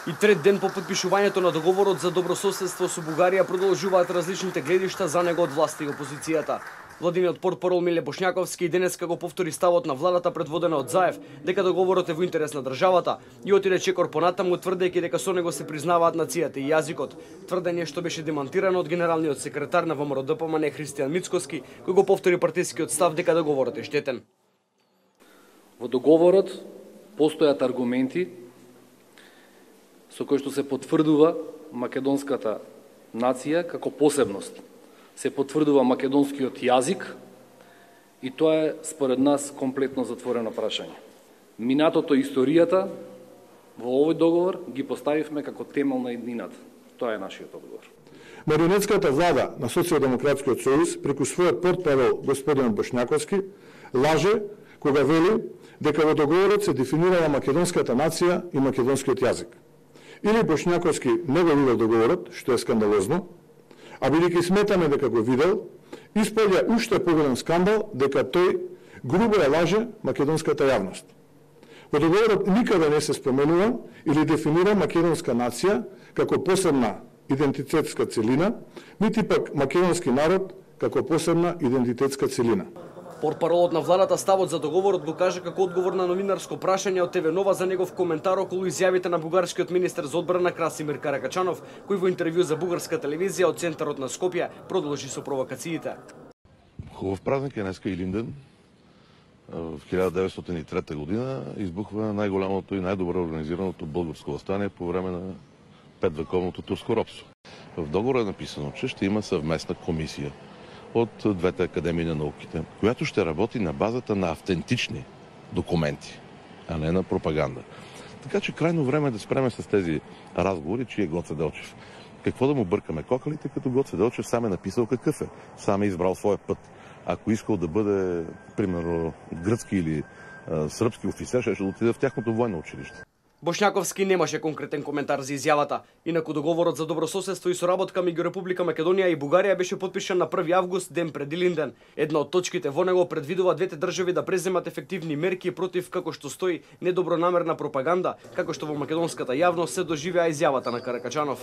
И трет ден по потпишувањето на договорот за добрососедство со Бугарија продолжуваат различните гледишта за него од власта и опозицијата. Владиниот портпарол Миле Бошњаковски и денеска го повтори ставот на владата предводена од Заев, дека договорот е во интерес на државата и отиде чекор понатаму тврдејќи дека со него се признаваат нацијата и јазикот. Тврдење што беше демантирано од генералниот секретар на ВМРО-ДПМН Христијан Мицкоски, кој го повтори партискиот став дека договорот е штетен. Во договорот постојат аргументи со кои што се потврдува македонската нација како посебност. Се потврдува македонскиот јазик и тоа е според нас комплетно затворено прашање. Минатото и историјата во овој договор ги поставивме како темел на еднината. Тоа е нашиот одговор. Марионетската влада на Социјалдемократскиот сојуз преку својот портпарол господин Бошњаковски лаже кога вели дека во договорот се дефинирала македонската нација и македонскиот јазик. Или Бошњаковски не го видел договорот, што е скандалозно, а бидејќи сметаме дека го видел, исполја уште поголем скандал дека тој грубо ја лаже македонската јавност. Во договорот никаде не се споменува или дефинира македонска нација како посебна идентитетска целина, нити пак македонски народ како посебна идентитетска целина. Портпаролот на владата ставот за договорот го кажа како одговор на новинарско прашање од ТВ Нова за негов коментар околу изјавите на бугарскиот министер за одбрана Красимир Каракачанов, кој во интервју за бугарска телевизија од центарот на Скопје продолжи со провокациите. Хубав празник е днеска Илинден. В 1903 година избухва најголемото и најдобро организираното българско въстание по време на петвековното турско робство. В договора е написано, че ще има съвместна комисия от двете академии на науките, която ще работи на базата на автентични документи, а не на пропаганда. Така че крайно време е да спреме с тези разговори, че е Гоце Делчев. Какво да му бъркаме кокалите, като Гоце Делчев сам е написал какъв е, сам е избрал своя път. Ако искал да бъде, примерно, гръцки или сръбски офицер, ще отиде в тяхното военно училище. Бошњаковски немаше конкретен коментар за изјавата. Инаку договорот за добрососедство и соработка меѓу Република Македонија и Бугарија беше потпишан на 1 август, ден пред Илинден. Една од точките во него предвидува двете држави да преземат ефективни мерки против, како што стои, недобронамерна пропаганда, како што во македонската јавност се доживеа изјавата на Каракачанов.